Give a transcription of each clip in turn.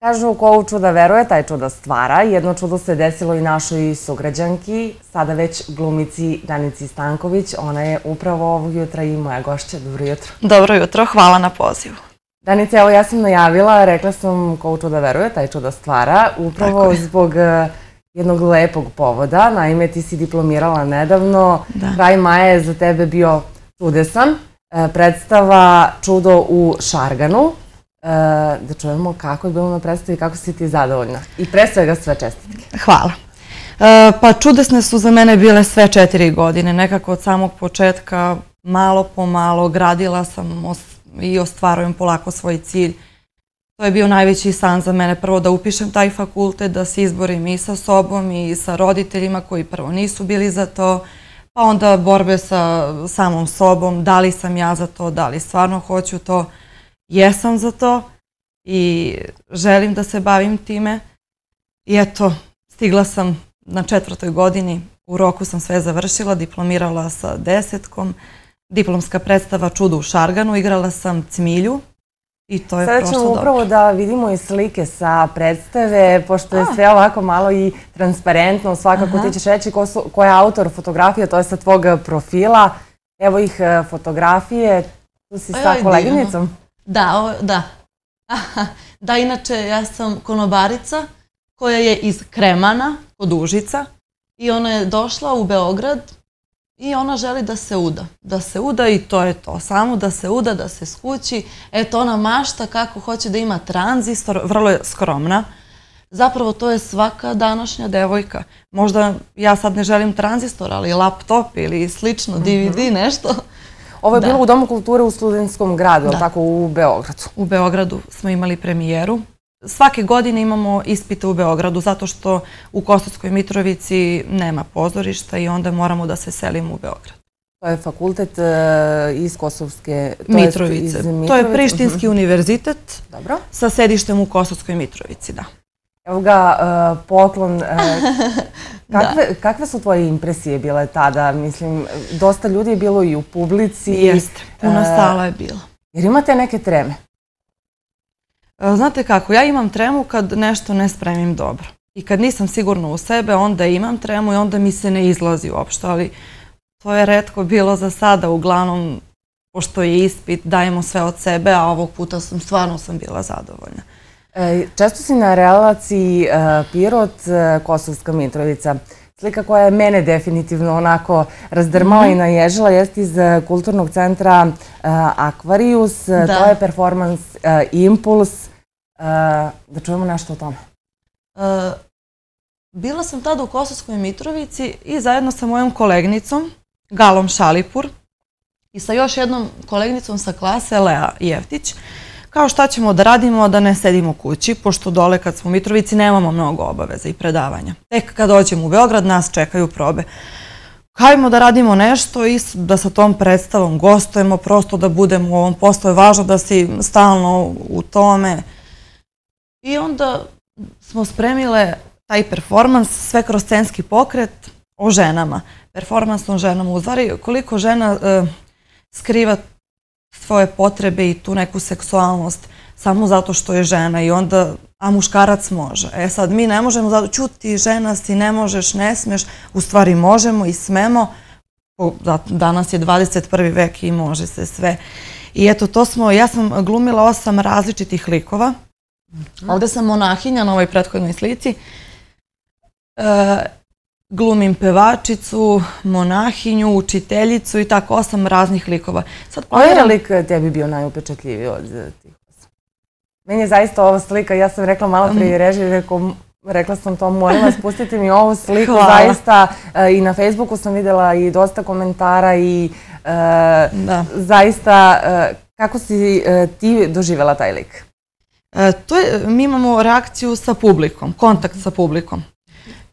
Kažu ko u čuda veruje, taj čuda stvara. Jedno čudo se desilo i našoj sugrađanki, sada već glumici Danici Stanković. Ona je upravo ovog jutra i moja gošća. Dobro jutro. Dobro jutro, hvala na pozivu. Danica, evo ja sam najavila, rekla sam ko u čuda veruje, taj čuda stvara. Upravo zbog jednog lepog povoda. Naime, ti si diplomirala nedavno. Kraj maja je za tebe bio čudesan. Predstava Čudo u Šarganu. Da čujemo kako je bilo na predstavi, kako si ti zadovoljna. I pre svega sve čestitke. Hvala. Pa čudesne su za mene bile sve 4 godine. Nekako od samog početka, malo po malo, gradila sam i ostvarujem polako svoj cilj. To je bio najveći san za mene. Prvo da upišem taj fakultet, da se izborim i sa sobom i sa roditeljima koji prvo nisu bili za to. Pa onda borbe sa samom sobom, da li sam ja za to, da li stvarno hoću to. Jesam za to i želim da se bavim time. I eto, stigla sam na 4. godini, u roku sam sve završila, diplomirala sa 10. Diplomska predstava Čudo u Šarganu, igrala sam Cmilju i to je prošlo dobro. Sada ćemo upravo da vidimo i slike sa predstave, pošto je sve ovako malo i transparentno. Svakako ti ćeš reći ko je autor fotografija, to je sa tvog profila. Evo ih fotografije, tu si sa koleginicom. Da. Da, inače ja sam konobarica koja je iz Kremana, kod Užica, i ona je došla u Beograd i ona želi da se uda. Da se uda i to je to, samo da se uda, da se skući. Eto, ona mašta kako hoće da ima tranzistor, vrlo je skromna. Zapravo to je svaka današnja devojka. Možda ja sad ne želim tranzistor, ali laptop ili slično, DVD, nešto. Ovo je bilo u Domu kulture u Studentskom gradu, ali tako u Beogradu? U Beogradu smo imali premijeru. Svake godine imamo ispite u Beogradu, zato što u Kosovskoj Mitrovici nema pozorišta i onda moramo da se selimo u Beograd. To je fakultet iz Kosovske Mitrovice. To je Prištinski univerzitet sa sedištem u Kosovskoj Mitrovici, da. Evo ga, poklon. Kakve su tvoje impresije bile tada? Mislim, dosta ljudi je bilo i u publici. Jeste, puna sala je bila. Jer imate neke treme? Znate kako, ja imam tremu kad nešto ne spremim dobro. I kad nisam sigurna u sebe, onda imam tremu i onda mi se ne izlazi uopšte. Ali to je retko bilo za sada. Uglavnom, pošto je ispit, dajemo sve od sebe, a ovog puta stvarno sam bila zadovoljna. Često si na relaciji Pirot-Kosovska Mitrovica. Slika koja je mene definitivno onako razdrmala i naježila jeste iz kulturnog centra Akvarijus. To je performans Impuls. Da čujemo nešto o tome. Bila sam tada u Kosovskoj Mitrovici i zajedno sa mojom kolegnicom Galom Šalipur i sa još jednom kolegnicom sa klase Lea Jeftić. Kao šta ćemo da radimo, da ne sedimo kući, pošto dole kad smo u Mitrovici nemamo mnogo obaveza i predavanja. Tek kad dođemo u Beograd nas čekaju probe. Hajmo da radimo nešto i da sa tom predstavom gostujemo, prosto da budemo u ovom poslu. Je važno da si stalno u tome. I onda smo spremile taj performans, sve kroz scenski pokret o ženama. Performans o ženama, u stvari koliko žena skriva svoje potrebe i tu neku seksualnost samo zato što je žena i onda, a muškarac može. E sad, mi ne možemo zato, ćuti, žena si, ne možeš, ne smeš, u stvari možemo i smemo. Danas je 21. vek i može se sve. I eto, to smo, ja sam glumila 8 različitih likova. Ovde sam monahinja na ovoj prethodnoj slici. Glumim pevačicu, monahinju, učiteljicu i tako 8 raznih likova. Koji je lik tebi bio najupečatljiviji od tih 8? Meni je zaista ova slika, ja sam rekla malo prije režiji, rekla sam to, molim vas, pustite mi ovu sliku, zaista i na Facebooku sam videla i dosta komentara i zaista, kako si ti doživjela taj lik? Mi imamo reakciju sa publikom, kontakt sa publikom.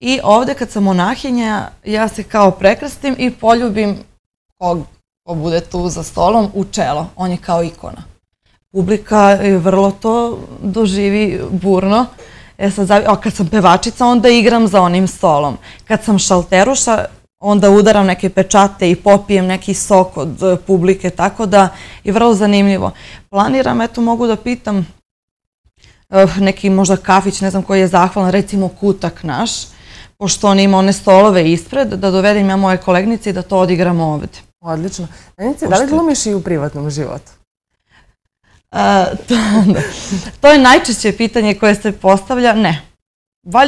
I ovde kad sam monahinja, ja se kao prekrstim i poljubim ko bude tu za stolom u čelo. On je kao ikona. Publika vrlo to doživi burno. Kad sam pevačica, onda igram za onim stolom. Kad sam šalteruša, onda udaram neke pečate i popijem neki sok od publike, tako da je vrlo zanimljivo. Planiram, eto mogu da pitam neki možda kafić, ne znam koji je zahvalan, recimo Kutak naš, pošto on ima one stolove ispred, da dovedem ja moje kolegnice i da to odigramo ovde. Odlično. Danice, da li glumiš i u privatnom životu? To je najčešće pitanje koje se postavlja. Ne.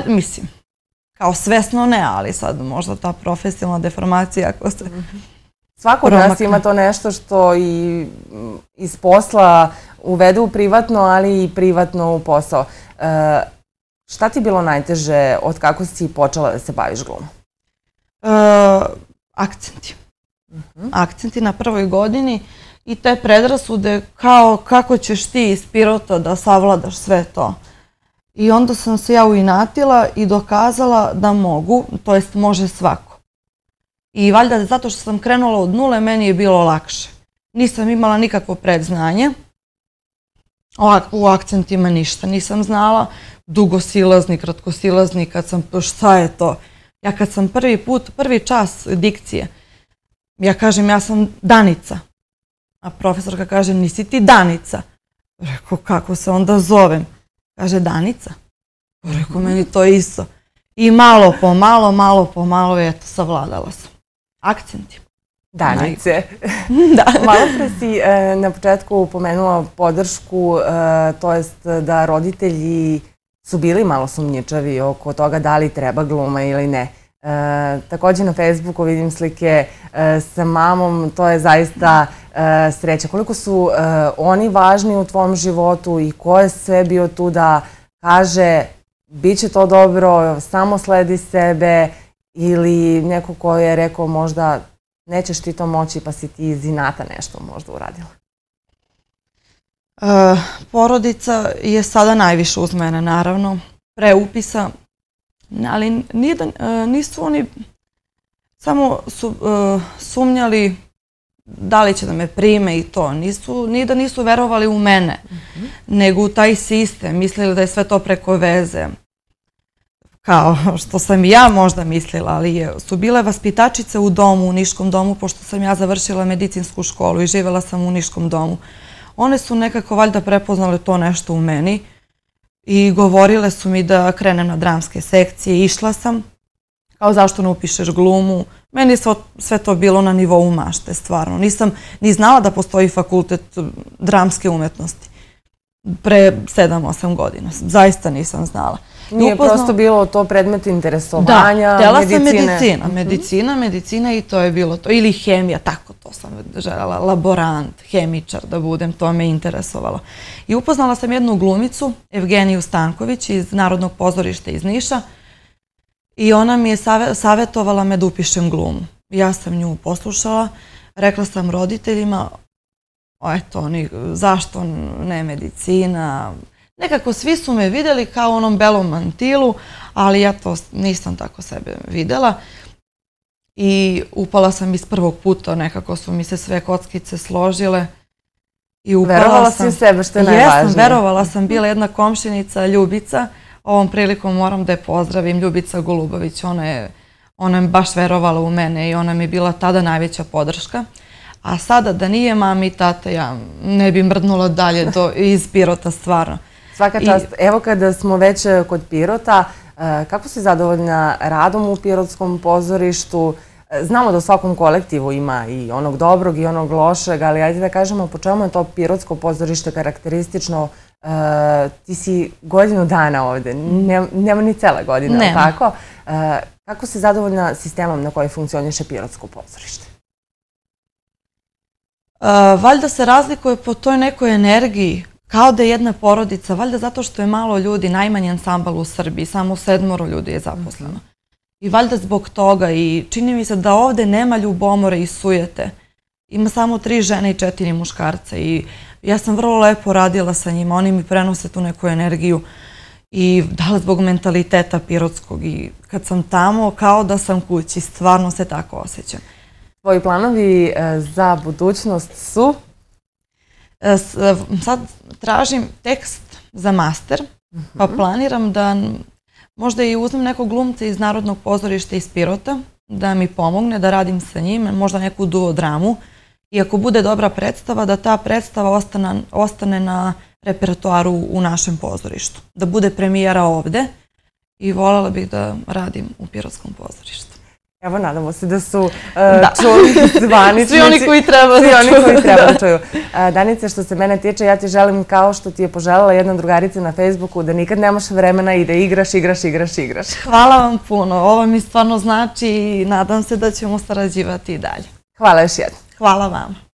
Mislim, kao svesno ne, ali sad možda ta profesionalna deformacija ako se svako od nas ima to nešto što i iz posla uvede u privatno, ali i privatno u posao. Šta ti je bilo najteže od kako si počela da se baviš glumom? Akcenti. Akcenti na prvoj godini i te predrasude kao kako ćeš ti iz Pirota da savladaš sve to. I onda sam se ja uinatila i dokazala da mogu, to jest može svako. I valjda zato što sam krenula od nule, meni je bilo lakše. Nisam imala nikakvo predznanje, u akcentima ništa nisam znala, dugosilazni, kratkosilazni, šta je to? Ja kad sam prvi čas dikcije, ja kažem ja sam Danica, a profesorka kaže nisi ti Danica. Rekao kako se onda zovem? Kaže Danica. Rekao meni to isto. I malo po malo, eto, savladala sam. Akcenti. Danice. Malo pre si na početku pomenula podršku, to jest da roditelji su bili malo sumnjičavi oko toga da li treba gluma ili ne. Također na Facebooku vidim slike sa mamom, to je zaista sreća. Koliko su oni važni u tvom životu i ko je sve bio tu da kaže bit će to dobro, samo sledi sebe, ili neko ko je rekao možda nećeš ti to moći pa si ti iz inata nešto možda uradila? Porodica je sada najviše uz mene, naravno, pre upisa, ali nisu oni, samo su sumnjali da li će da me prime i to. Ni da nisu verovali u mene, nego u taj sistem, mislili da je sve to preko veze. Kao što sam i ja možda mislila, ali su bile vaspitačice u domu, u Niškom domu, pošto sam ja završila medicinsku školu i živjela sam u Niškom domu. One su nekako valjda prepoznale to nešto u meni i govorile su mi da krenem na dramske sekcije. Išla sam, kao zašto ne upišeš glumu. Meni je sve to bilo na nivou mašte, stvarno. Nisam ni znala da postoji fakultet dramske umetnosti pre 7-8 godina. Zaista nisam znala. Nije prosto bilo to predmet interesovanja, medicine? Da, medicina i to je bilo to. Ili hemija, tako to sam željela, laborant, hemičar da budem, to me interesovalo. I upoznala sam jednu glumicu, Evgeniju Stanković iz Narodnog pozorišta iz Niša i ona mi je savjetovala me da upišem glumu. Ja sam nju poslušala, rekla sam roditeljima, eto, zašto ne medicina. Nekako svi su me vidjeli kao u onom belom mantilu, ali ja to nisam tako sebe vidjela. I upala sam iz prvog puta, nekako su mi se sve kockice složile. Verovala si u sebe, što je najvažnije. Jesam, verovala sam. Bila jedna komšinica, Ljubica, ovom prilikom moram da je pozdravim, Ljubica Golubović, ona je baš verovala u mene i ona mi je bila tada najveća podrška. A sada da nije mami i tata, ja ne bi mrdnula dalje iz Pirota, stvarno. Svaka čast. Evo kada smo već kod Pirota, kako si zadovoljna radom u Pirotskom pozorištu? Znamo da u svakom kolektivu ima i onog dobrog i onog lošeg, ali ajde da kažemo po čemu je to Pirotsko pozorište karakteristično. Ti si godinu dana ovde, nema ni cela godina, ali tako? Kako si zadovoljna sistemom na koji funkcioniše Pirotsko pozorište? Valjda se razlikuje po toj nekoj energiji, kao da je jedna porodica, valjda zato što je malo ljudi, najmanji ansambal u Srbiji, samo 7 ljudi je zaposleno. I valjda zbog toga i čini mi se da ovde nema ljubomore i sujete. Ima samo 3 žene i 4 muškarca i ja sam vrlo lepo radila sa njima, oni mi prenose tu neku energiju i da li zbog mentaliteta pirotskog i kad sam tamo kao da sam kući, stvarno se tako osjećam. Tvoji planovi za budućnost su? Sad tražim tekst za master, pa planiram da možda i uzmem nekog glumca iz Narodnog pozorišta iz Pirota, da mi pomogne da radim sa njim, možda neku duo dramu. I ako bude dobra predstava, da ta predstava ostane na repertoaru u našem pozorištu. Da bude premijera ovde i voljela bih da radim u Pirotskom pozorištu. Evo, nadamo se da su čuli zvaničnici. Svi oni koji treba da čuju. Danice, što se mene tiče, ja ti želim kao što ti je poželjela jedna drugarica na Facebooku da nikad nemaš vremena i da igraš. Hvala vam puno. Ovo mi stvarno znači i nadam se da ćemo sarađivati i dalje. Hvala još jednom. Hvala vam.